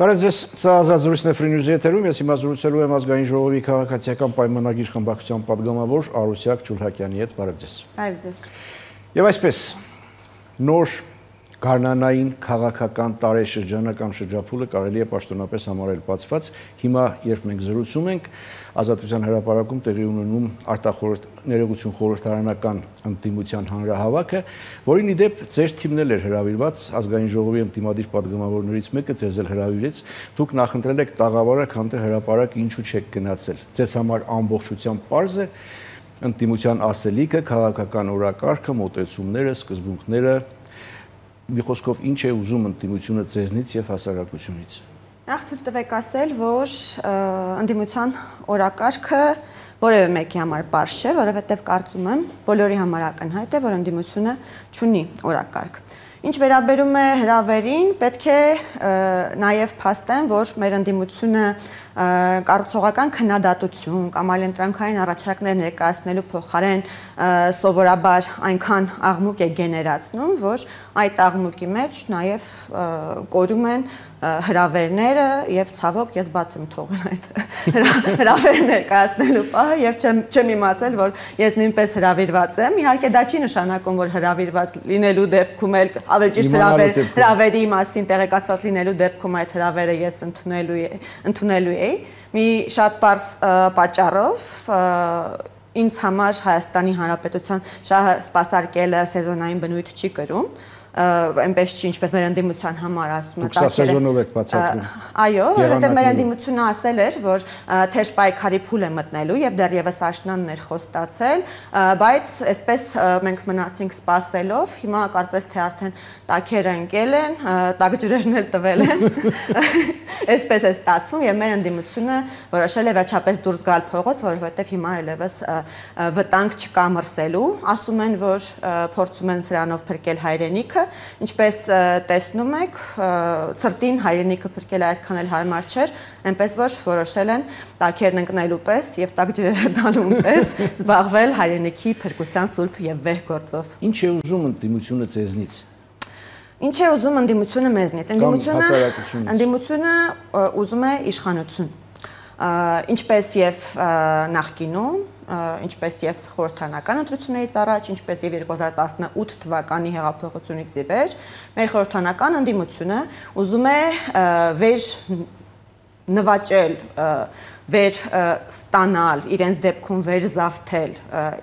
Բարև ձեզ, սա ազատ զրույցն է Free News-ի եթերում, ես հիմա զրուցելու եմ Ազգային ժողովի քաղաքացիական պայմանագիր խմբակցության պատգամավոր Արուսյակ Ջուլհակյանի հետ, բարև ձեզ։ Բարև ձեզ։ Եվ այսպես, նոր գարնանային քաղաքական տարեշրջանը կամ շրջափուլը կարելի է պաշտոնապես համարել բացված։ Հիմա, երբ մենք զրուցում ենք, Ազատության հրապարակում տեղի ունենում ներողություն խորհրդարանական ընդդիմության հանրահավաքը, որին ի դեպ ձեր թիմն էլ էր հրավիրված, Ազգային ժողովի ընդդիմադիր պատգամավորներից մեկը ձեզ էլ հրավիրեց, դուք նախընտրել եք տաղավարը, քան թե հրապարակ ինչու չեք գնացել։ Ձեզ համար ամբողջությամբ պարզ է ընդդիմության ասելիքը, քաղաքական օրակարգը, մոտեցումները, սկզբունքները, մի խոսքով ինչ է ուզում ընդդիմությունը ձեզնից եւ հասարակությունից։ Նախ թույլ տվեք ասել, որ ընդդիմության օրակարգը որևէ մեկի համար պարզ չէ, որովհետև կարծում եմ բոլորի համար ակնհայտ է, որ ընդդիմությունը չունի օրակարգ։ Ինչ վերաբերում է հրավերին, պետք է նաև փաստեմ, որ մեր ընդդիմությունը կառուցողական քննադատություն կամ այլընտրանքային առաջարկներ ներկայացնելու փոխարեն սովորաբար այնքան աղմուկ է գեներացնում, որ այդ աղմուկի մեջ նաև կորում են հրավերները եւ ցավոք ես բաց եմ թողել այդ հրավերներ ներկայացնելու պահը եւ չեմ իմացել, որ ես նույնպես հրավիրված եմ։ Իհարկե դա չի նշանակում, որ հրավիրված լինելու դեպքում էլ ավելի ճիշտ հրավերի մասին տեղեկացված լինելու դեպքում այդ հրավերը ես ընդունելու էի։ Մի շատ պարզ պատճառով ինձ համար Հայաստանի Հանրապետության շահը սպասարկելը սեզոնային բնույթ չի կրում, այնպես չի, ինչպես մեր ընդդիմության համար ասում է սեզոնով եք բացատրում։ Այո, որովհետև մեր ընդդիմությունը ասել էր, որ թեժ պայքարի փուլ է մտնելու եւ դեռևս աշնանն էր խոստացել, բայց այսպես մենք մնացինք սպասելով, հիմա կարծես թե արդեն տակերը ընկել են, տակջրերն էլ տվել են։ Այսպես է ստացվում եւ մեր ընդդիմությունը որոշել է վերջապես դուրս գալ փողոց, որովհետև հիմա այլևս վտանգ չկա մրսելու, ասում են, որ փորձում են սրանով փրկել հայրենիքը, ինչպես տեսնում եք, ցրտին հայրենիքը փրկելը այդքան էլ հարմար չէր, այնպես որ որոշել են տակերն ընկնելու պես եւ տակջրերը տալու պես զբաղվել հայրենիքի փրկության սուրբ եւ վեհ գործով։ Ինչ է ուզում ընդդիմությունը ձեզնից։ Ինչ է ուզում ընդդիմությունը մեզնից։ Ընդդիմությունը ուզում է իշխանություն։ Ինչպես եւ նախկինում, ինչպես եւ խորհրդարանական ընտրություններից առաջ, ինչպես եւ 2018 թվականի հեղափոխությունից ի վեր, մեր խորհրդարանական ընդդիմությունը ուզում է վեր նվաճել, վեր ստանալ, իրենց դեպքում վեր զավթել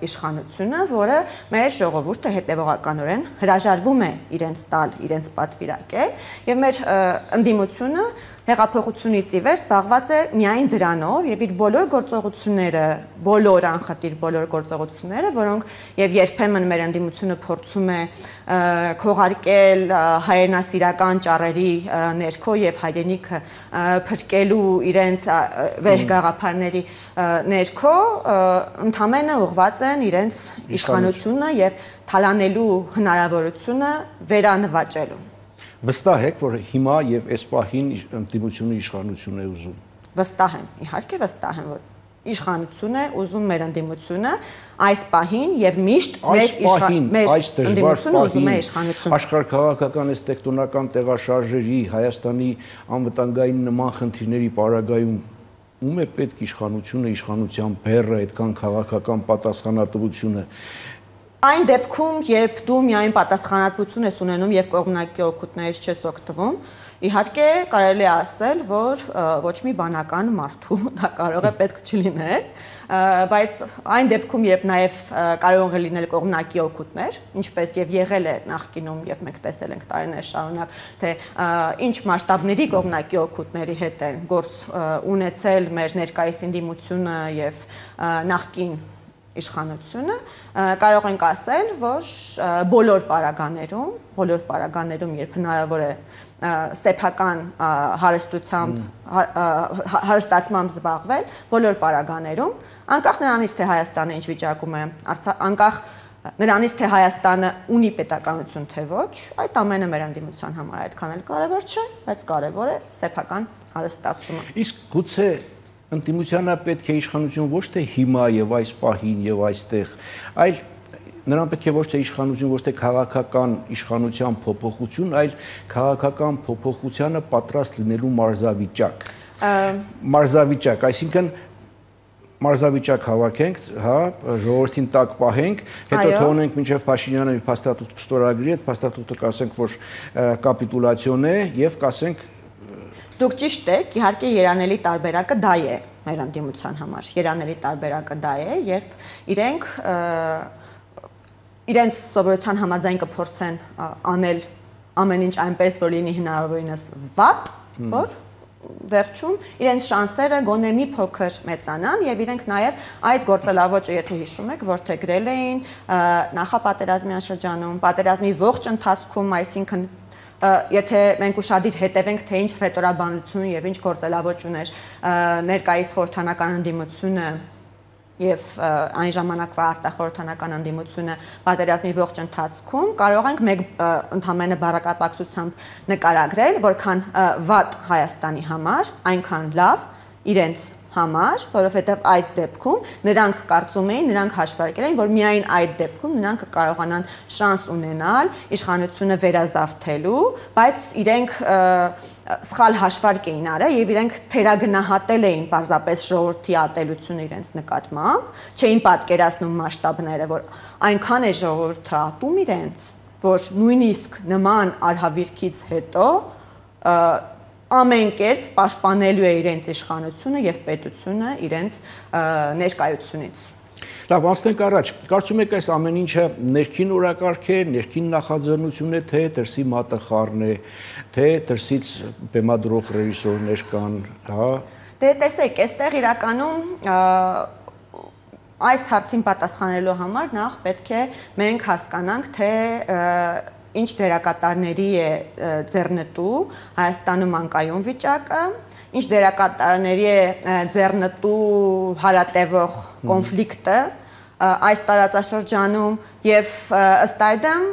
իշխանությունը, որը մեր ժողովուրդը հետևողականորեն հրաժարվում է իրենց տալ, իրենց պատվիրակել, եւ մեր ընդդիմությունը հեղափոխությունից ի վեր զբաղված է միայն դրանով եւ իր բոլոր գործողությունները, բոլոր անխտիր բոլոր գործողությունները, որոնք եւ երբեմն մեր ընդդիմությունը փորձում է քողարկել հայրենասիրական ճառերի ներքո եւ հայրենիքը փրկելու իրենց վեհ գաղափարների ներքո ընդամենը ուղղված են իրենց իշխանությունը եւ թալանելու հնարավորությունը վերանվաճելու։ Վստահ եք, որ հիմա եւ այս պահին ընդդիմությունը իշխանություն է ուզում։ Վստահ եմ, իհարկե վստահ եմ, որ իշխանություն է ուզում մեր ընդդիմությունը այս պահին եւ միշտ մեր ընդդիմությունը ուզում է իշխանություն։ Աշխարհաքաղաքական այս տեկտոնական տեղաշարժերի, Հայաստանի անվտանգային նման խնդիրների պարագայում ում է պետք իշխանությունը, իշխանության բեռը, այդքան քաղաքական պատասխանատվությունը։ Այն դեպքում, երբ դու միայն պատասխանատվություն ես ունենում եւ կողմնակի օգուտներից չես օգտվում, իհարկե կարելի է ասել, որ ոչ մի բանական մարդու դա կարող է պետք չլինել, բայց այն դեպքում, երբ նաեւ կարող է լինել կողմնակի օգուտներ, ինչպես եւ եղել է նախկինում եւ մենք տեսել ենք տարիներ շարունակ, թե ինչ մասշտաբների կողմնակի օգուտների հետ են գործ ունեցել մեր ներկայիս ընդդիմությունը եւ նախկին իշխանությունը, կարող ենք ասել, որ բոլոր պարագաներում, երբ հնարավոր է սեփական հարստացմամբ զբաղվել, բոլոր պարագաներում, անկախ նրանից, թե Հայաստանը ինչ վիճակում է, անկախ նրանից, թե Հայաստանը ունի պետականություն, թե ոչ, այդ ամենը մեր ընդդիմության համար այդքան էլ կարևոր չէ, բայց կարևոր է սեփական հարստացումը։ Իսկ գուցե ընդդիմությանը պետք է իշխանություն ոչ թե հիմա եւ այս պահին եւ այստեղ, այլ նրան պետք է ոչ թե իշխանություն, ոչ թե քաղաքական իշխանության փոփոխություն, այլ քաղաքական փոփոխությանը պատրաստ լինելու մարզավիճակ։ Մարզավիճակ, այսինքն մարզավիճակ հավաքենք, հա, ժողովրդին տակ պահենք, հետո թողնենք մինչև Փաշինյանը մի փաստաթուղթ կստորագրի, այդ փաստաթուղթը կասենք, որ կապիտուլյացիոն է եւ կասենք Դուք ճիշտ եք, իհարկե երանելի տարբերակը դա է մեր ընդդիմության համար։ Երանելի տարբերակը դա է, երբ իրենց սովորության համաձայն կփորձեն անել ամեն ինչ այնպես, որ լինի հնարավորինս վատ, որ վերջում իրենց շանսերը գոնե մի փոքր մեծանան եւ իրենք նաեւ այդ գործելավոճը, եթե հիշում եք, որդեգրել էին նախապատերազմյան շրջանում, պատերազմի ողջ ընթացքում, այսինքն եթե մենք ուշադիր հետևենք, թե ինչ ռետորաբանություն եւ ինչ գործելավոճ ուներ ներկայիս խորհրդանական ընդդիմությունը եւ այն ժամանակվա արտախորհրդանական ընդդիմությունը պատերազմի ողջ ընթացքում կարող ենք մեկ ընդհանրապես բառակապակցությամբ նկարագրել, որքան վատ Հայաստանի համար, այնքան լավ իրենց համար, որովհետև այդ դեպքում նրանք կարծում էին, նրանք հաշվարկել էին, որ միայն այդ դեպքում նրանք կարողանան շանս ունենալ իշխանությունը վերազավթելու, բայց իրենք սխալ հաշվարկ էին արել եւ իրենք թերագնահատել էին պարզապես ժողովրդի ատելությունը իրենց նկատմամբ, չէին պատկերացնում մասշտաբները, որ այնքան է ժողովուրդը ատում իրենց, որ նույնիսկ նման արհավիրքից հետո ամեն կերպ պաշտպանելու է իրենց իշխանությունը եւ պետությունը իրենց ներկայությունից։ Լավ, անցնենք առաջ։ Կարծում եք այս ամեն ինչը ներքին օրակարգ է, ներքին նախաձեռնություն է, թե դրսի մատախառն է, թե դրսից բեմադրող ռեժիսորներ կան, հա։ Դե տեսեք, այստեղ իրականում այս հարցին պատասխանելու համար նախ պետք է մենք հասկանանք, թե ինչ դերակատարների է ձեռնտու Հայաստանում անկայուն վիճակը, ինչ դերակատարների է ձեռնտու հարատևող կոնֆլիկտը այս տարածաշրջանում եւ ըստ այդմ,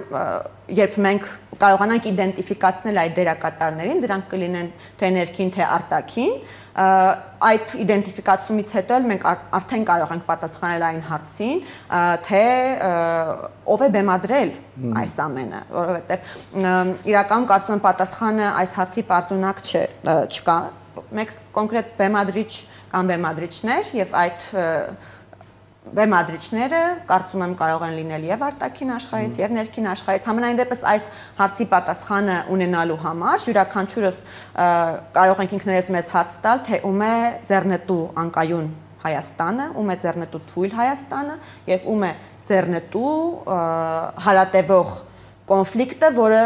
երբ մենք կարողանանք իդենտիֆիկացնել այդ դերակատարներին, դրանք կլինեն թե ներքին, թե արտաքին, այդ իդենտիֆիկացումից հետո մենք արդեն կարող ենք պատասխանել այն հարցին, թե ով է բեմադրել այս ամենը, որովհետև իրականում կարծում եմ պատասխանը այս հարցի պարզունակ չկա, մեկ կոնկրետ բեմադրիչ կամ բեմադրիչներ եւ այդ բեմադրիչները կարծում եմ կարող են լինել եւ արտաքին աշխարհից եւ ներքին աշխարհից։ Համենայն դեպս այս հարցի պատասխանը ունենալու համար յուրաքանչյուրս կարող ենք ինքներս մեզ հարց տալ, թե ում է ձեռնտու անկայուն Հայաստանը, ում է ձեռնտու թույլ Հայաստանը եւ ում է ձեռնտու հարատևող կոնֆլիկտը, որը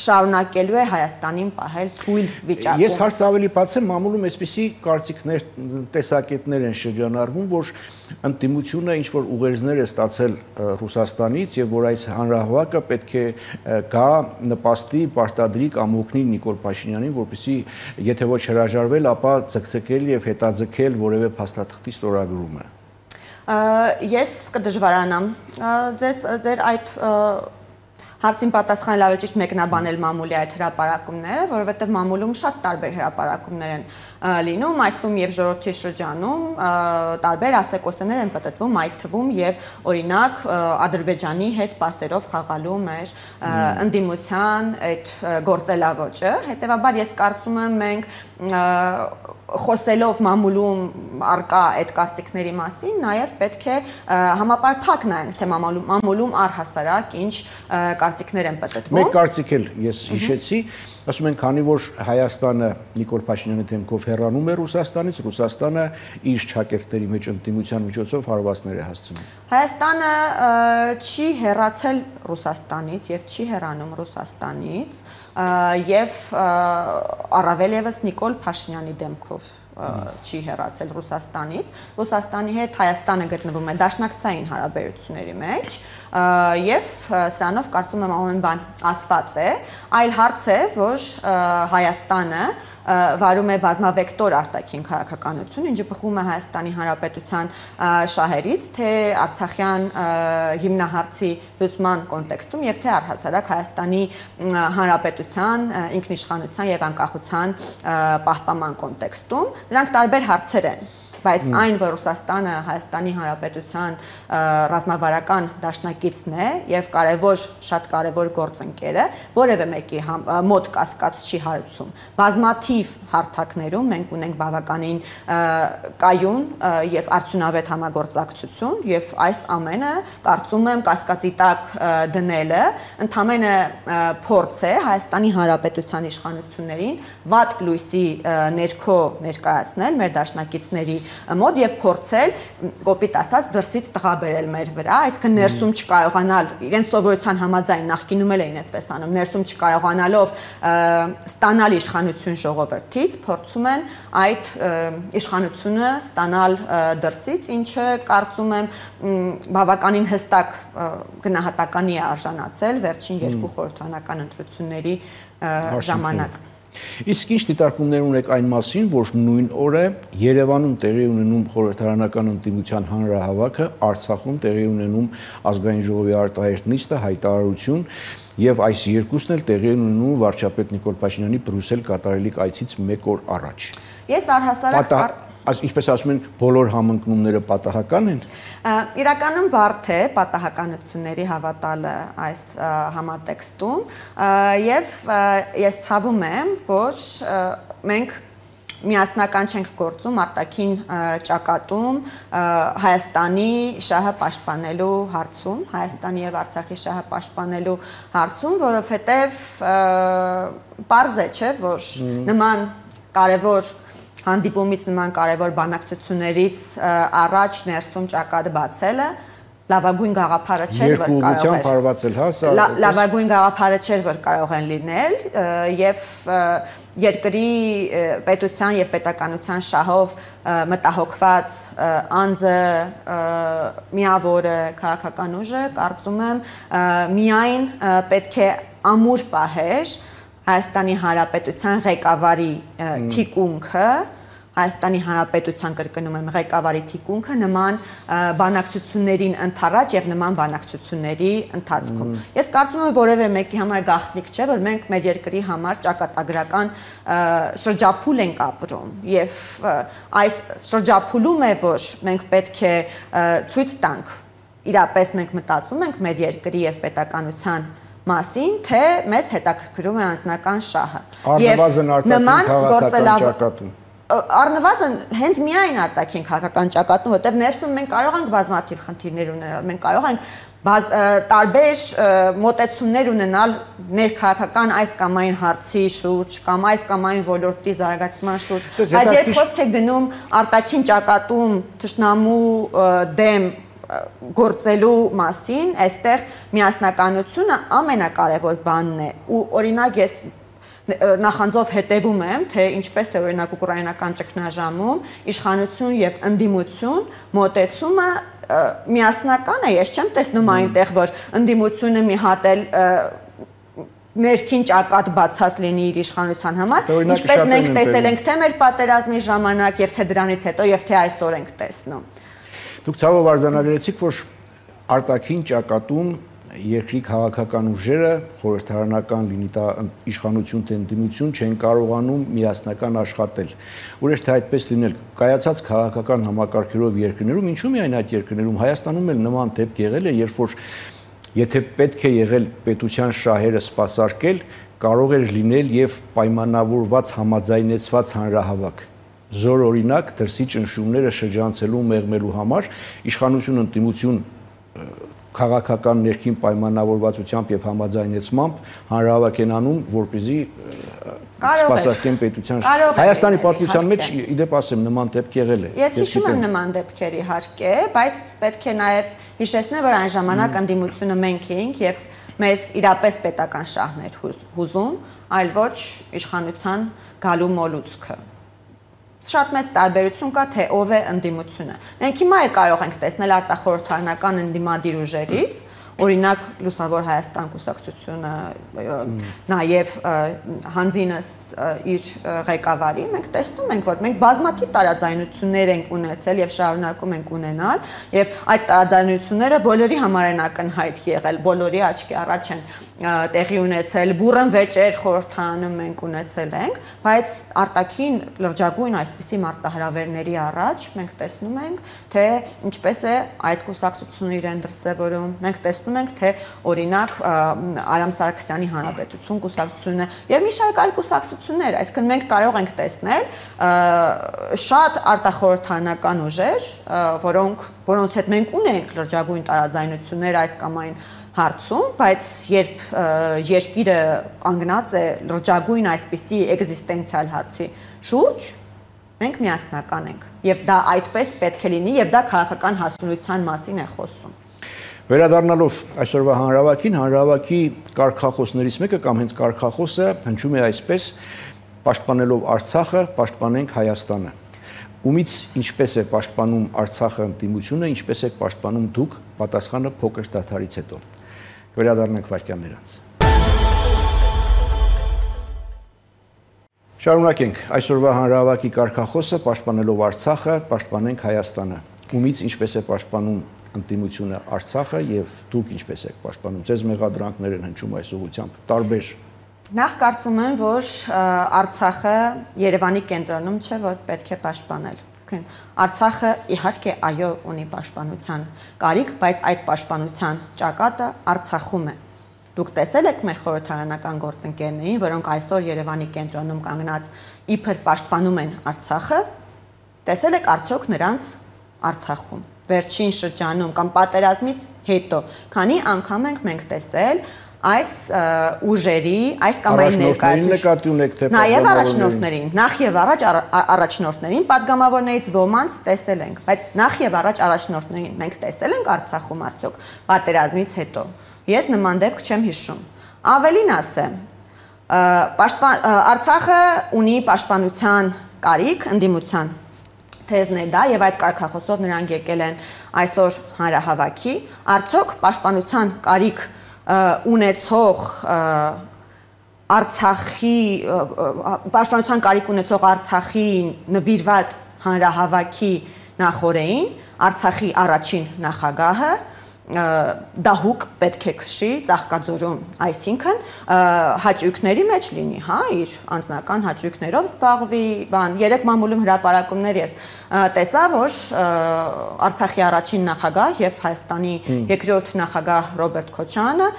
շարունակելու է Հայաստանին պահել թույլ վիճակում։ Ես հարց ավելի բացեմ, մամուլում այսպիսի կարծիքներ, տեսակետներ են շրջանառվում, որ ընդդիմությունը ինչ որ ուղերձներ է ստացել Ռուսաստանից եւ որ այս հանրահավաքը պետք է գա նպաստի, պարտադրի կամ օգնի Նիկոլ Փաշինյանին, որպեսզի եթե ոչ հրաժարվել, ապա ցկցկել եւ հետաձգել որևէ փաստաթղթի ստորագրումը։ Ես կդժվարանամ ձեր այդ հարցին պատասխանել ավելի ճիշտ մեկնաբանել մամուլի այդ հրապարակումները, որովհետև մամուլում շատ տարբեր հրապարակումներ են լինում, այդ թվում եւ ժողովրդի շրջանում տարբեր ասեկոսներ են պատտվում, այդ թվում եւ օրինակ Ադրբեջանի հետ պասերով խաղալու մեր ընդդիմության այդ գործելավոճը, հետեւաբար ես կարծում եմ մենք խոսելով մամուլում արկա այդ կարծիքների մասին, նաև պետք է համապարփակ նայենք, թե մամուլում առհասարակ ինչ կարծիքներ են պատտվում։ Մեկ կարծիք էլ ես հիշեցի, ասում են, քանի որ Հայաստանը Նիկոլ Փաշինյանի դեմքով հեռանում է Ռուսաստանից, Ռուսաստանը իր չակերտների մեջ ընդդիմության միջոցով հարվածներ է հասցնում։ Հայաստանը չի հեռացել Ռուսաստանից եւ չի հեռանում Ռուսաստանից եւ առավել եւս Նիկոլ Փաշինյանի դեմքով չի հեռացել Ռուսաստանից։ Ռուսաստանի հետ Հայաստանը գտնվում է դաշնակցային հարաբերությունների մեջ եւ սրանով կարծում եմ ամեն բան ասված է, այլ հարց է, որ Հայաստանը վարում է բազմավեկտոր արտաքին քաղաքականություն, ինչը բխում է Հայաստանի Հանրապետության շահերից, թե Արցախյան հիմնահարցի լուծման կոնտեքստում եւ թե առհասարակ Հայաստանի Հանրապետության ինքնիշխանության եւ անկախության պահպանման կոնտեքստում։ Դրանք տարբեր հարցեր են, բայց այն, որ Ռուսաստանը Հայաստանի Հանրապետության ռազմավարական դաշնակիցն է եւ շատ կարեւոր գործընկեր է, որևէ մեկի մոտ կասկած չի հարուցում։ Բազմաթիվ հարթակներում մենք ունենք բավականին կայուն եւ արդյունավետ համագործակցություն եւ այս ամենը կարծում եմ կասկածի տակ դնելը ընդամենը փորձ է Հայաստանի Հանրապետության իշխանություններին վատ լույսի ներքո ներկայացնել մեր դաշնակիցների մոտ եւ փորձել կոպիտ ասած դրսից տղաբերել մեր վրա, այսինքն ներսում չկարողանալ իրենց սովորության համաձայն նախկինում էլ էին այդպես անում, ներսում չկարողանալով ստանալ իշխանություն ժողովրդից, փորձում են այդ իշխանությունը ստանալ դրսից, ինչը կարծում եմ բավականին հստակ գնահատականի է արժանացել վերջին երկու խորհրդարանական ընտրությունների ժամանակ։ Իսկ ինչ դիտարկումներ ունեք այն մասին, որ նույն օրը Երևանում տեղի ունենում խորհրդարանական ընդդիմության հանրահավաքը, Արցախում տեղի ունենում ազգային ժողովի արտահերթ նիստը, հայտարարություն եւ այս երկուսն էլ տեղի ունենում վարչապետ Նիկոլ Փաշինյանի Բրյուսել կատարելիք այցից 1 օր առաջ։ Ես առհասարակ Ինչպես ասում են, բոլոր համընկնումները պատահական են։ Իրականում բարդ է պատահականությունների հավատալը այս համատեքստում եւ ես ցավում եմ, որ մենք միասնական չենք գործում արտաքին ճակատում Հայաստանի շահը պաշտպանելու հարցում, Հայաստանի եւ Արցախի շահը պաշտպանելու հարցում, որովհետեւ պարզ է, չէ, որ նման կարևոր հանդիպումից նման կարևոր բանակցություններից առաջ ներսում ճակատ բացելը լավագույն գաղափարը չէր, որ կարող է լավագույն գաղափարը չէր, որ կարող են լինել եւ երկրի պետության եւ պետականության շահով մտահոգված անձը միավորը քաղաքական ուժը կարծում եմ միայն պետք է ամուր պահեր Հայաստանի Հանրապետության ղեկավարի թիկունքը Հայաստանի Հանրապետության կրկնում եմ ղեկավարի թիկունքը նման բանակցություններին ընթառաջ եւ նման բանակցությունների ընթացքում։ Ես կարծում եմ որևէ մեկի համար գաղտնիք չէ, որ մենք մեր երկրի համար ճակատագրական շրջափուլ ենք ապրում եւ այս շրջափուլում է, որ մենք պետք է ցույց տանք, իրապես մենք մտածում ենք մեր երկրի եւ պետականության մասին, թե մեզ հետաքրքրում է անձնական շահը։ Առնվազն արտաքին քաղաքական ճակատում։ Առնվազն հենց միայն արտաքին քաղաքական ճակատում, որտեղ ներսում մենք կարող ենք բազմաթիվ խնդիրներ ունենալ, մենք կարող ենք տարբեր մոտեցումներ ունենալ ներքաղաքական այս կամ այն հարցի շուրջ կամ այս կամ այն ոլորտի զարգացման շուրջ, բայց երբ խոսք է գնում արտաքին ճակատում թշնամու դեմ գործելու մասին, այստեղ միասնականությունը ամենակարևոր բանն է ու օրինակ ես նախանձով հետևում եմ, թե ինչպես է օրինակ ուկրաինական ճգնաժամում իշխանություն եւ ընդդիմություն մոտեցումը միասնական է, ես չեմ տեսնում այնտեղ, որ ընդդիմությունը մի հատ էլ ներքին ճակատ բացած լինի իր իշխանության համար, ինչպես մենք տեսել ենք թե մեր պատերազմի ժամանակ եւ թե դրանից հետո եւ թե այսօր ենք տեսնում։ Դուք ցավով արձանագրեցիք, որ արտաքին ճակատում երկրի քաղաքական ուժերը խորհրդարանական լինի դա իշխանություն թե ընդդիմություն չեն կարողանում միասնական աշխատել։ Ուրիշ թե այդպես լինել կայացած քաղաքական համակարգերով երկրներում, ինչու՞ միայն այդ երկրներում, Հայաստանում էլ նման դեպք եղել է, երբ որ եթե պետք է եղել պետության շահերը սպասարկել, կարող էր լինել եւ պայմանավորված համաձայնեցված հանրահավաք։ Զոր օրինակ դրսի ճնշումները շրջանցելու մեղմելու համար իշխանություն ընդդիմություն քաղաքական ներքին պայմանավորվածությամբ եւ համաձայնեցմամբ հանրահավաք են անում, որպեսզի սպասարկեն պետության Հայաստանի պատմության մեջ իդեպ ասեմ նման դեպք եղել է։ Ես հիշում եմ նման դեպքեր իհարկե, բայց պետք է նաեւ հիշեցնել, որ այն ժամանակ ընդդիմությունը մենք էինք եւ մեզ իրապես պետական շահներ հուզում, այլ ոչ իշխանության գալու մոլուցքը։ Շատ մեծ տարբերություն կա, թե ով է ընդդիմությունը։ Մենք հիմա էլ կարող ենք տեսնել արտախորհրդարանական ընդդիմադիր ուժերից, օրինակ Լուսավոր Հայաստան կուսակցությունը նաև հանձինս իր ղեկավարի մենք տեսնում ենք որ մենք բազմաթիվ տարաձայնություններ ենք ունեցել եւ շարունակում ենք ունենալ եւ այդ տարաձայնությունները բոլորի համար են ակնհայտ եղել բոլորի աչքի առաջ են տեղի ունեցել բուրըն վեճեր խորհրդանում մենք ունեցել ենք բայց արտաքին լրջագույն այսպիսի մարտահրավերների առաջ մենք տեսնում ենք թե ինչպես է այդ կուսակցությունը իրեն դրսևորում մենք տեսնում ենք թե օրինակ Արամ Սարգսյանի հանրապետություն կուսակցությունը եւ մի շարք այլ կուսակցություններ այսինքն մենք կարող ենք տեսնել շատ արտախորհրդանական ուժեր որոնց հետ մենք ունենք լրջագույն տարաձայնություններ այս կամ այն հարցում, բայց երբ երկիրը կանգնած է լրջագույն այսպիսի էգզիստենցիալ հարցի շուրջ, մենք միասնական ենք եւ դա այդպես պետք է լինի եւ դա քաղաքական հասունության մասին է խոսում։ Վերադառնալով այսօրվա հանրահավաքի կարգախոսներից մեկը կամ հենց կարգախոսը հնչում է այսպես. պաշտպանելով Արցախը, պաշտպանենք Հայաստանը։ Ումից ինչպես է պաշտպանում Արցախը ընդդիմությունը, ինչպես է պաշտպանում դուք, պատասխանը փոքր դադարից հետո։ Վերադառնանք վայրկյաններ անց։ Շարունակենք այսօրվա հանրահավաքի կարգախոսը պաշտպանելով Արցախը, պաշտպանենք Հայաստանը։ Ումից ինչպես է պաշտպանում ընդդիմությունը Արցախը եւ դուք ինչպես եք պաշտպանում։ Ձեզ մեղադրանքներ են հնչում այս ուղղությամբ տարբեր։ Նախ կարծում եմ, որ Արցախը Երևանի կենտրոնում չէ, որ պետք է պաշտպանել։ Արցախը իհարկե այո ունի պաշտպանության կարիք, բայց այդ պաշտպանության ճակատը Արցախում է։ Դուք տեսել եք մեր խորհրդարանական գործընկերներին, որոնք այսօր Երևանի կենտրոնում կանգնած իբր պաշտպանում են Արցախը, տեսել եք արդյոք նրանց Արցախում վերջին շրջանում կամ պատերազմից հետո, քանի անգամ ենք մենք տեսել այս ուժերի, այս կամ այն ներկայացուցիչ նաև առաջնորդներին, նախ եւ առաջ առաջնորդներին, падգամավորներից ոմանց տեսել ենք, բայց նախ եւ առաջ առաջնորդներին մենք տեսել ենք Արցախում արդյոք պատերազմից հետո։ Ես նման դեպք չեմ հիշում։ Ավելին ասեմ, Արցախը ունի պաշտպանության կարիք, ընդդիմության թեզն է դա եւ այդ կարգախոսով նրանք եկել են այսօր հանրահավաքի, արդյոք պաշտպանության կարիք ունեցող Արցախի պաշտպանության կարիք ունեցող Արցախի նվիրված հանրահավաքի նախորդին Արցախի առաջին նախագահը դահուկ պետք է քշի Ծաղկաձորում, այսինքն հաճույքների մեջ լինի, հա, իր անձնական հաճույքներով զբաղվի, երեք մամուլում հրապարակումներ ես տեսա, որ Արցախի առաջին նախագահ եւ Հայաստանի երկրորդ նախագահ Ռոբերտ Քոչյանը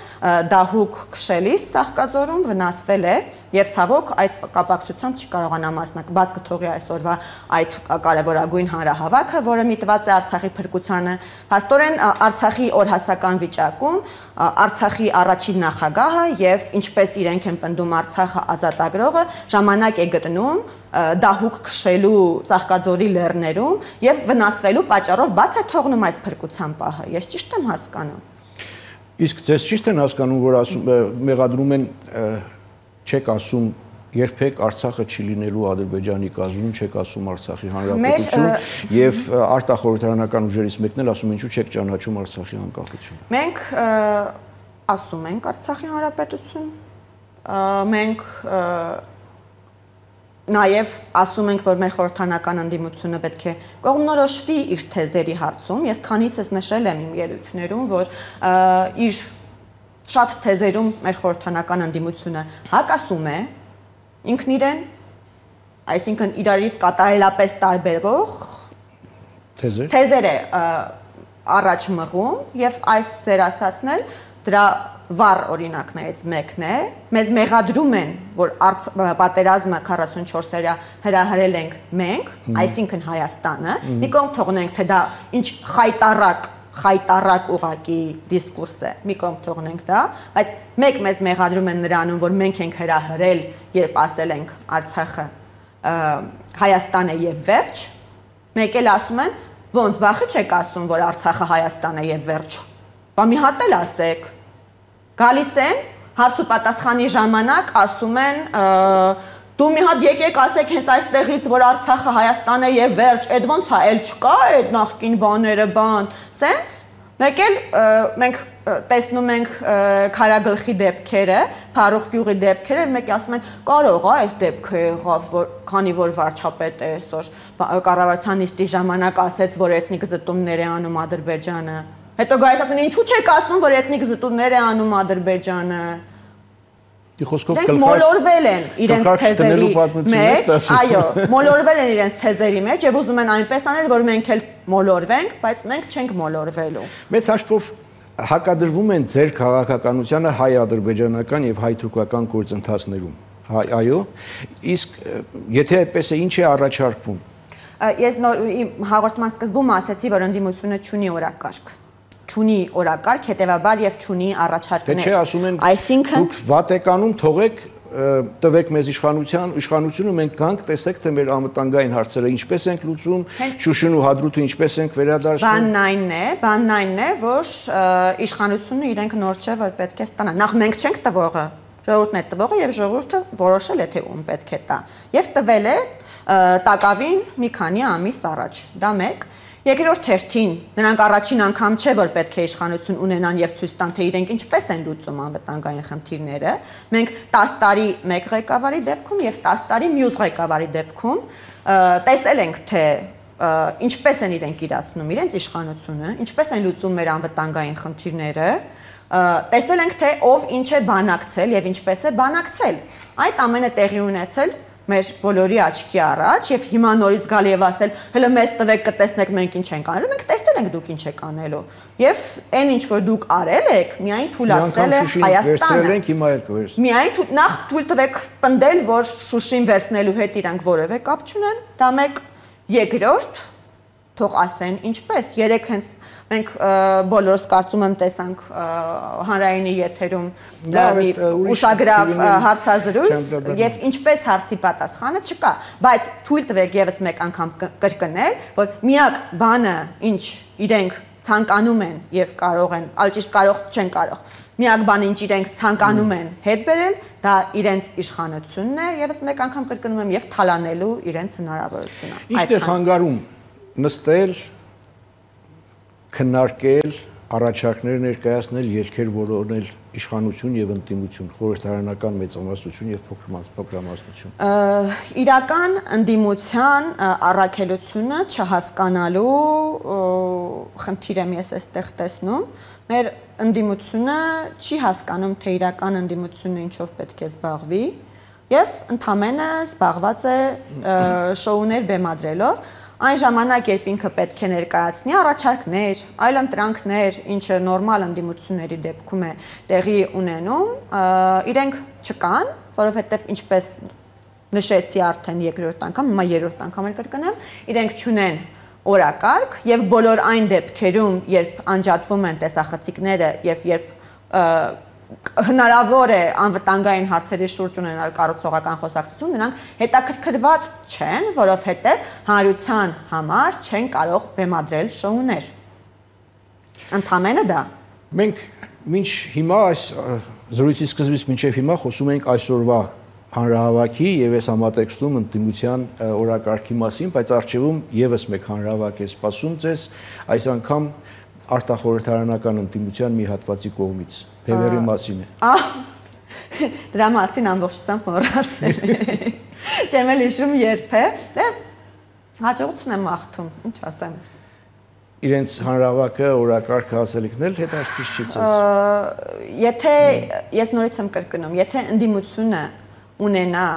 դահուկ քշելիս Ծաղկաձորում վնասվել է եւ ցավոք այդ կապակցությամբ չի կարողանա մասնակցել, բաց կթողի այսօրվա այդ կարևորագույն հանրահավաքը, որը միտված է Արցախի փրկությանը, փաստորեն Արցախի օրհասական վիճակում Արցախի առաջին նախագահը եւ ինչպես իրենք են պնդում Արցախը ազատագրողը ժամանակ է գտնում դահուկ քշելու Ծաղկաձորի լեռներում եւ վնասվելու պատճառով բաց է թողնում այս փրկության պահը։ Ես ճիշտ եմ հասկանում։ Իսկ ձեզ ճիշտ են հասկանում, որ ասում մեղադրում են չեք ասում երբեք Արցախը չի լինելու Ադրբեջանի կազմում, չեք ասում Արցախի հանրապետություն եւ արտախորհրդարանական ուժերից մեկն էլ ասում ինչու չեք ճանաչում Արցախի անկախությունը։ Մենք ասում ենք Արցախի հանրապետություն, մենք նաև ասում ենք, որ մեր խորհրդանական ընդդիմությունը պետք է կողմնորոշվի իր թեզերի հարցում։ Ես քանիցս նշել եմ իմ ելույթներում, որ իր շատ թեզերում մեր խորհրդանական ընդդիմությունը հակասում է ինքն իրեն, այսինքն իրարից կատարելապես տարբերվող թեզեր է առաջ մղում եւ այս ձեր ասածն էլ դրա վառ օրինակներից մեկն է։ Մեզ մեղադրում են, որ պատերազմը 44-երյա հրահրել ենք մենք, այսինքն Հայաստանը, մի կողմ թողնենք, թե դա ինչ խայտառակ ուղակի դիսկուրս է, մի կողմ թողնենք դա, բայց մեկ մեզ մեղադրում են նրանում, որ մենք ենք հրահրել, երբ ասել ենք Արցախը Հայաստան է եւ վերջ, մեկ էլ ասում են, ոնց բախը չեք ասում, որ Արցախը Հայաստան է եւ վերջ։ Բա մի հատ էլ ասեք։ Գալիս են, հարց ու պատասխանի ժամանակ ասում են դու մի հատ եկեք ասեք հենց այստեղից, որ Արցախը Հայաստան է եւ վերջ, այդ ոնց է, էլ չկա այդ նախկին բաները, սենց, Մեկ էլ մենք տեսնում ենք քարագլխի դեպքերը, Փարուխ գյուղի դեպքերը, մեկը ասում են կարող է այս դեպքը եղավ, քանի որ վարչապետը այսօր կառավարության նիստի ժամանակ ասեց, որ էթնիկ զտումներ է անում Ադրբեջանը։ Հետո գայիս ասում են ինչու՞ չեք ասում, որ էթնիկ զտումներ է անում Ադրբեջանը։ Դրանք մոլորվել են իրենց թեզերի մեջ, այո, մոլորվել են իրենց թեզերի մեջ եւ ուզում են այնպես անել, որ մենք էլ մոլորվենք, բայց մենք չենք մոլորվելու։ Մեծ հաշվով հակադրվում են ձեր քաղաքականությանը հայ-ադրբեջանական եւ հայ-թուրքական գործընթացներում։ Այո, իսկ եթե այդպես է, ինչ է առաջարկվում։ Ես հաղորդման սկզբում ասացի, որ ընդդիմությունը չունի օրակարգ։ Չունի օրակարգ, հետևաբար եւ չունի առաջարկներ։ Չէ, ասում են, այսինքն դուք Վատիկանում թողեք, տվեք մեզ իշխանությունը, մենք գանք, տեսեք, թե մեր անվտանգային հարցերը ինչպես ենք լուծում, Շուշին ու Հադրութը ինչպես ենք վերադարձնում։ Բանն այն է, որ իշխանությունը իրենք նոր չէ, որ պետք է ստանա։ Նախ մենք չենք տվողը, ժողովուրդն է տվողը եւ ժողովուրդը որոշել է, թե ում պետք է տա։ Եվ տվել է տակավին մի քանի ամիս առաջ։ Դա մեկ։ Երկրորդ հերթին նրանք առաջին անգամ չէ, որ պետք է իշխանություն ունենան եւ ցույց տան, թե իրենք ինչպես են լուծում անվտանգային խնդիրները։ Մենք 10 տարի մեկ ղեկավարի դեպքում եւ 10 տարի մյուս ղեկավարի դեպքում տեսել ենք, թե ինչպես են իրենք իրացնում իրենց իշխանությունը, ինչպես են լուծում մեր անվտանգային խնդիրները, տեսել ենք, թե ով ինչ է բանակցել եւ ինչպես է բանակցել։ Այդ ամենը տեղի ունեցել մեր բոլորի աչքի առաջ եւ հիմա նորից գալ եւ ասել հələ մեզ տվեք կտեսնեք մենք ինչ ենք անելու, մենք տեսել ենք դուք ինչ եք անելու եւ այն ինչ որ դուք արել եք միայն թույլատրել է Հայաստանը միայն նախ թույլ տվեք պնդել որ Շուշին վերցնելու հետ իրանք որևէ կապ չունեն դա մեկ երկրորդ թող ասեն ինչպես երեք հենց մենք բոլորս կարծում եմ տեսանք հանրայինի եթերում ուշագրավ հարցազրույց եւ ինչպես հարցի պատասխանը չկա բայց թույլ տվեք եւս մեկ անգամ կրկնել որ միակ բանը ինչ իրենք ցանկանում են եւ կարող են ալճիշտ կարող չեն կարող միակ բանը ինչ իրենք ցանկանում են հետ բերել դա իրենց իշխանությունն է եւս մեկ անգամ կրկնում եմ եւ թալանելու իրենց հնարավորությունը Ինչ է խանգարում նստել քննարկել, առաջարկներ ներկայացնել, ելքեր որոնել իշխանություն եւ ընդդիմություն, խորհրդարանական մեծամասնություն եւ փոքրամասնություն։ Իրական ընդդիմության առաքելությունը չհասկանալու խնդիր եմ ես այստեղ տեսնում։ Մեր ընդդիմությունը չի հասկանում, թե իրական ընդդիմությունը ինչով պետք է զբաղվի եւ ընդհանրապես զբաղված է շոուներ բեմադրելով Այն ժամանակ, երբ ինքը պետք է ներկայացնի առաջարկներ, այլ ընտրանքներ, ինչը նորմալ ընդդիմությունների դեպքում է տեղի ունենում, իրենք չկան, որովհետև ինչպես նշեցի արդեն երկրորդ անգամ, հիմա երրորդ անգամ էլ կրկնեմ, իրենք չունեն օրակարգ եւ բոլոր այն դեպքերում, երբ անջատվում են տեսախցիկները եւ երբ հնարավոր է անվտանգային հարցերի շուրջ ունենալ կառուցողական խոսակցություն, նրանք հետաքրքրված չեն, որովհետև հանրության համար չեն կարող բեմադրել շոուներ։ Ընդհանրապես դա։ Մենք մինչ հիմա այս զրույցի սկզբից մինչև հիմա խոսում ենք այսօրվա հանրահավաքի եւ այս համատեքստում ընդդիմության օրակարգի մասին, բայց առջևում եւս մեկ հանրահավաք է սպասում ձեզ, այս անգամ արտախորհրդարանական ընդդիմության մի հատվածի կողմից Բևերի մասին է։ Դրա մասին ամբողջությամբ մոռացել եմ։ Չեմ էլ հիշում երբ է։ Դե հաջողություն եմ մաղթում, ինչ ասեմ։ Իրենց հանրահավաքը օրակարգը ասելիքն էլ հետաքրքիր չի ցած։ Եթե ես նորից եմ կրկնում, եթե ընդդիմությունը ունենա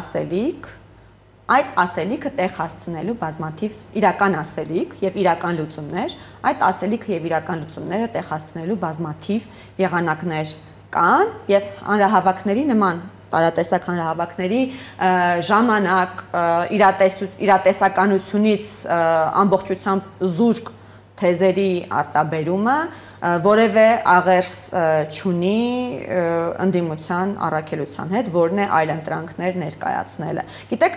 ասելիք, այդ ասելիքը տեղ հասցնելու բազմաթիվ իրական ասելիք եւ իրական լուծումներ, այդ ասելիքը եւ իրական լուծումները տեղ հասցնելու բազմաթիվ եղանակներ կան եւ հանրահավաքների նման տարատեսակ հանրահավաքների ժամանակ իրատեսականությունից ամբողջությամբ զուրկ թեզերի արտաբերումը որևէ աղերս չունի ընդդիմության առաքելության հետ, որն է այլ ընտրանքներ ներկայացնելը։ Գիտեք,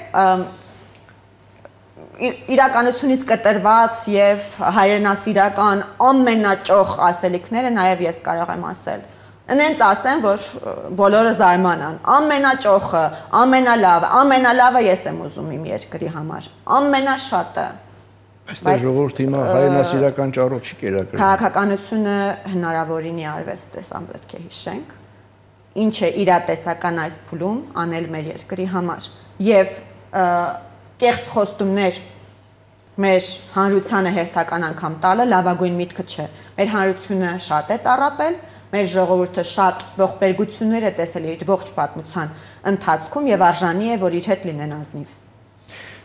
իրականությունից կտրված եւ հայրենասիրական ամենաճոխ ասելիքները նաեւ ես կարող եմ ասել։ Նենց ասեմ, որ բոլորը զարմանան։ Ամենաճոխը, ամենալավը ես եմ ուզում իմ երկրի համար։ Ամենաշատը։ Այստեղ ժողովուրդը հիմա հայրենասիրական ճառով չի կերակրում։ Քաղաքականությունը հնարավորինի արվեստ տեսան պետք է հիշենք։ Ինչ է իրատեսական այս փուլում անել մեր երկրի համար եւ կեղծ խոստումներ մեր հանրությանը հերթական անգամ տալը լավագույն միտքը չէ։ Մեր հանրությունը շատ է տառապել, մեր ժողովուրդը շատ ողբերգություններ է տեսել իր ողջ պատմության ընթացքում եւ արժանի է, որ իր հետ լինեն ազնիվ։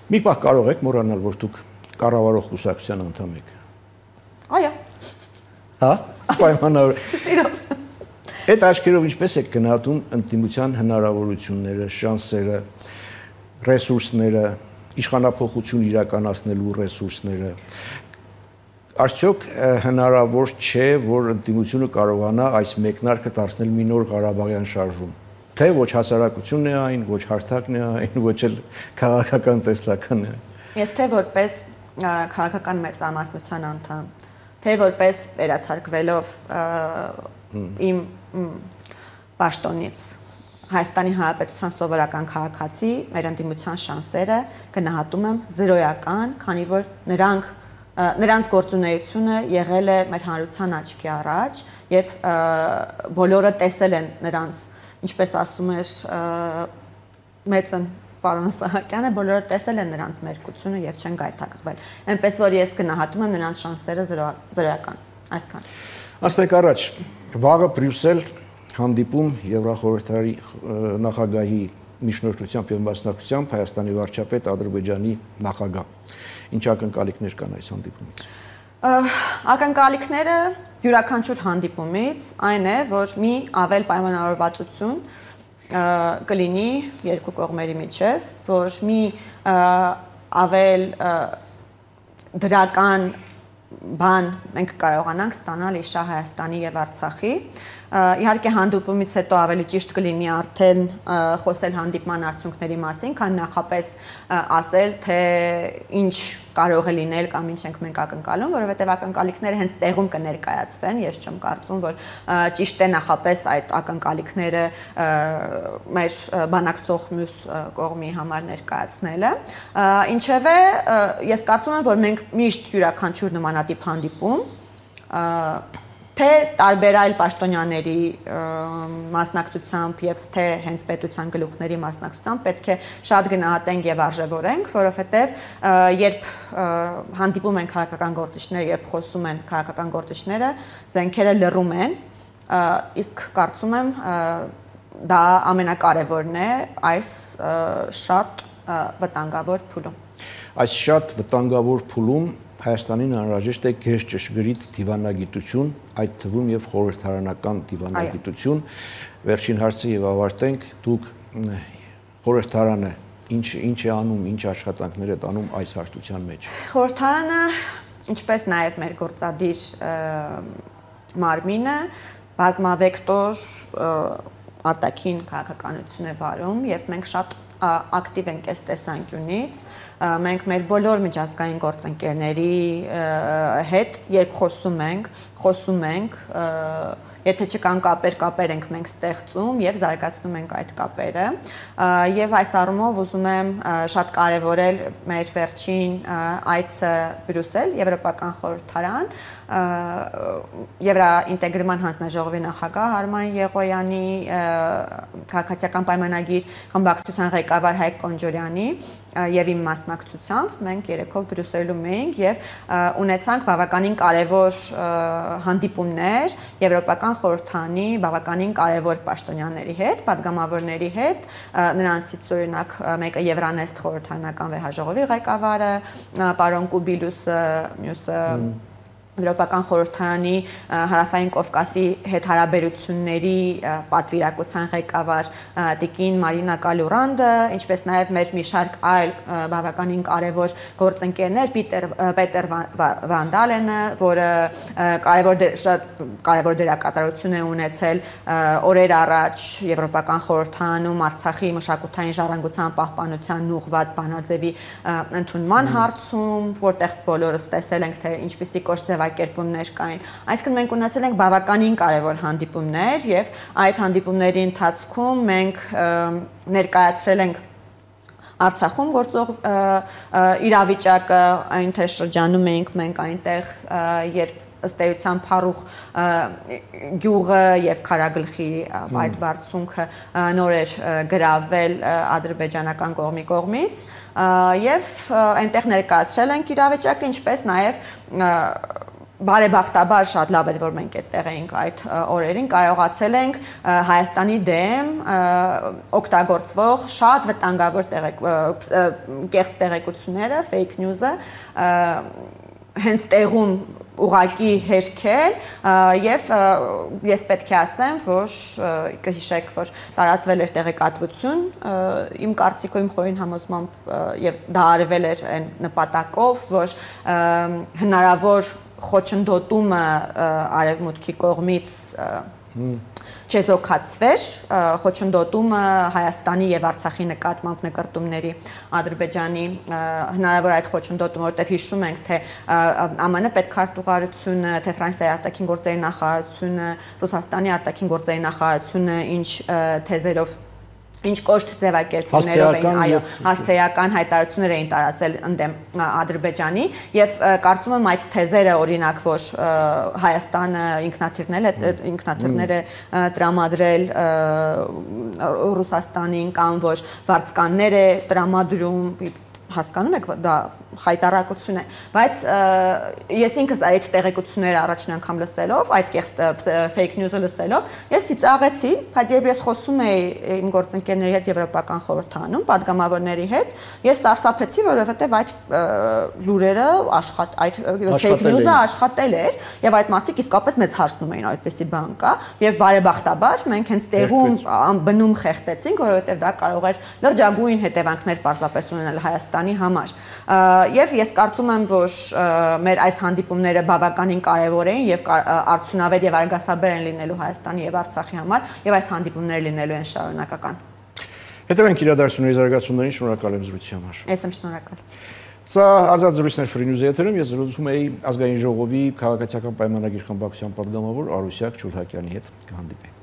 Մի պահ կարող եք մոռանալ, որ դուք կառավարող կուսակցության անդամ եք։ Այո։ Հա, պայմանավոր։ Սիրով։ Այդ աչքերով ինչպես եք գնահատում ընդդիմության հնարավորությունները, շանսերը, ռեսուրսները, իշխանափոխություն իրականացնելու ռեսուրսները։ Արդյոք հնարավոր չէ, որ ընդդիմությունը կարողանա այս մեկնարկը դարձնել մի նոր Ղարաբաղյան շարժում։ Թե ոչ հասարակությունն է այն, ոչ հարթակն է այն, ոչ էլ քաղաքական տեսլականն է։ Ես թե որպես քաղաքական մեծամասնության անդամ, թե որպես վերացարկվելով իմ պաշտոնից Հայաստանի Հանրապետության սովորական քաղաքացի, մեր ընդդիմության շանսերը գնահատում եմ զրոյական, քանի որ նրանց գործունեությունը եղել է մեր հանրության աչքի առաջ եւ բոլորը տեսել են նրանց, ինչպես ասում էր մեծն պարոն Սահակյանը, բոլորը տեսել են նրանց մերկությունը եւ չեն գայթակղվել։ Այնպես որ ես գնահատում եմ նրանց շանսերը զրոյական։ Այսքան։ Աստեք առաջ, վաղը Բրյուսել հանդիպում Եվրախորհրդի նախագահի միջնորդությամբ եւ մասնակցությամբ Հայաստանի վարչապետ Ադրբեջանի նախագահ։ Ինչ ակնկալիքներ կան այս հանդիպումից։ Ակնկալիքները յուրաքանչյուր հանդիպումից այն է, որ մի ավել պայմանավորվածություն կլինի երկու կողմերի միջև, որ մի ավել դրական բան մենք կարողանանք ստանալ իշա Հայաստանի եւ Արցախի։ Իհարկե հանդիպումից հետո ավելի ճիշտ կլինի արդեն խոսել հանդիպման արդյունքների մասին, քան նախապես ասել, թե ինչ կարող է լինել կամ ինչ ենք մենք ակնկալում, որովհետև ակնկալիքները հենց տեղում կներկայացվեն, ես չեմ կարծում, որ ճիշտ է նախապես այդ ակնկալիքները մեր բանակցող մյուս կողմի համար ներկայացնելը։ Ինչևէ, ես կարծում եմ, որ մենք միշտ յուրաքանչյուր նմանատիպ հանդիպում թե տարբեր այլ պաշտոնյաների մասնակցությամբ եւ թե հենց պետության գլուխների մասնակցությամբ պետք է շատ գնահատենք եւ արժևորենք, որովհետեւ երբ հանդիպում են քաղաքական գործիչները, երբ խոսում են քաղաքական գործիչները, զենքերը լռում են, իսկ կարծում եմ դա ամենակարևորն է այս շատ վտանգավոր փուլում։ Այս շատ վտանգավոր փուլում Հայաստանին անհրաժեշտ է գեշ ճշգրիտ դիվանագիտություն, այդ թվում եւ խորհրդարանական դիվանագիտություն։ Վերջին հարցը եւ ավարտենք, դուք խորհրդարանը ինչ է անում, ինչ աշխատանքներ է տանում այս հարթության մեջ։ Խորհրդարանը, ինչպես նաեւ մեր գործադիր մարմինը, բազմավեկտոր արտաքին քաղաքականություն է վարում եւ մենք շատ ակտիվ ենք այս տեսանկյունից, մենք մեր բոլոր միջազգային գործընկերների հետ երկխոսում ենք, խոսում ենք, եթե չկան կապեր ենք մենք ստեղծում եւ զարգացնում ենք այդ կապերը եւ այս առումով ուզում եմ շատ կարեւորել մեր վերջին այցը Բրյուսել, Եվրոպական խորհրդարան, Եվրաինտեգրման հանձնաժողովի նախագահ Արման Եղոյանի, քաղաքացիական պայմանագիր խմբակցության ղեկավար Հայկ Կոնջորյանի եւ իմ մասնակցությամբ մենք երեքով Բրյուսելում էինք եւ ունեցանք բավականին կարեւոր հանդիպումներ Եվրոպական խորհրդանի բավականին կարևոր պաշտոնյաների հետ, падգամավորների հետ, նրանցից օրինակ մեկը Եվրանեստ խորհրդարանական վեհաժողովի ղեկավարը, պարոն Կուբիլուսը, մյուսը Եվրոպական խորհրդարանի Հարավային Կովկասի հետ հարաբերությունների պատվիրակության ղեկավար տիկին Մարինա Կալուրանդը, ինչպես նաև մեր մի շարք այլ բավականին կարևոր գործընկերներ, Պետեր Վանդալենը, որը կարևոր դերակատարություն է ունեցել օրեր առաջ Եվրոպական խորհրդարանում Արցախի մշակութային ժառանգության պահպանության ուղղված բանաձևի ընդունման հարցում, որտեղ բոլորս տեսել ենք, թե ինչպիսի կոշտ ձևակերպումներ կային։ Այսինքն մենք ունեցել ենք բավականին կարևոր հանդիպումներ եւ այդ հանդիպումների ընթացքում մենք ներկայացրել ենք Արցախում գործող իրավիճակը, այն թե շրջանում էինք մենք այնտեղ, երբ ըստ էության Փարուխ գյուղը եւ Քարագլխի այդ բարձունքը նոր էր գրավել ադրբեջանական կողմից եւ այնտեղ ներկայացրել ենք իրավիճակը, ինչպես նաեւ բարեբախտաբար շատ լավ էր, որ մենք այդտեղ էինք այդ օրերին, կարողացել ենք Հայաստանի դեմ օգտագործվող շատ վտանգավոր կեղծ տեղեկությունները, fake news-ը հենց տեղում ուղակի հերքել եւ ես պետք է ասեմ, որ կհիշեք, որ տարածվել էր տեղեկատվություն, իմ կարծիքով իմ խորին համոզմամբ եւ դա արվել էր այն նպատակով, որ հնարավոր խոչընդոտումը արևմուտքի կողմից չեզոքացվեր, խոչընդոտումը Հայաստանի եւ Արցախի նկատմամբ նկարտումների Ադրբեջանի հնարավոր այդ խոչընդոտումը, որտեղ հիշում ենք, թե ԱՄՆ պետքարտուղարությունը, թե Ֆրանսիայի արտաքին գործերի նախարարությունը, Ռուսաստանի արտաքին գործերի նախարարությունը ինչ թեզերով ինչ կոշտ ձևակերպումներով էին, այո, հասցեական հայտարարություններ էին տարածել ընդդեմ Ադրբեջանի եւ կարծում եմ այդ թեզերը օրինակ, որ Հայաստանը ինքնաթիռներ է տրամադրել Ռուսաստանին կամ որ վարձկաններ է տրամադրում, հասկանում եք, դա խայտարակություն է, բայց ես ինքս այդ տեղեկությունները առաջին անգամ լսելով, այդ fake news-ը լսելով, ես ծիծաղեցի, բայց երբ ես խոսում էի իմ գործընկերների հետ Եվրոպական խորհրդանում, падգամավորների հետ, ես սարսափեցի, որովհետև այդ լուրերը այդ fake news-ը աշխատել էր, եւ այդ մարդիկ իսկապես մեծ հարցնում էին այդպեսի բան կա, եւ բարեբախտաբար մենք հենց տեղում բնում խեղդեցինք, որովհետև դա կարող էր լրջագույն հետևանքներ պարզապես ունենալ Հայաստանի համար։ Եվ ես կարծում եմ, որ մեր այս հանդիպումները բավականին կարևոր էին եւ արդյունավետ եւ արգասաբեր են լինելու Հայաստանի եւ Արցախի համար եւ այս հանդիպումները լինելու են շարունակական։ Հետևենք իրադարձությունների զարգացումներին, շնորհակալ եմ զրույցի համար։ Ես եմ շնորհակալ։ Սա ազատ զրույցներ Free News-ի եթերում, ես զրուցում էի ազգային ժողովի քաղաքացիական պայմանագիր խմբակցության պատգամավոր Արուսյակ Չուլհակյանի հետ, կհանդիպենք։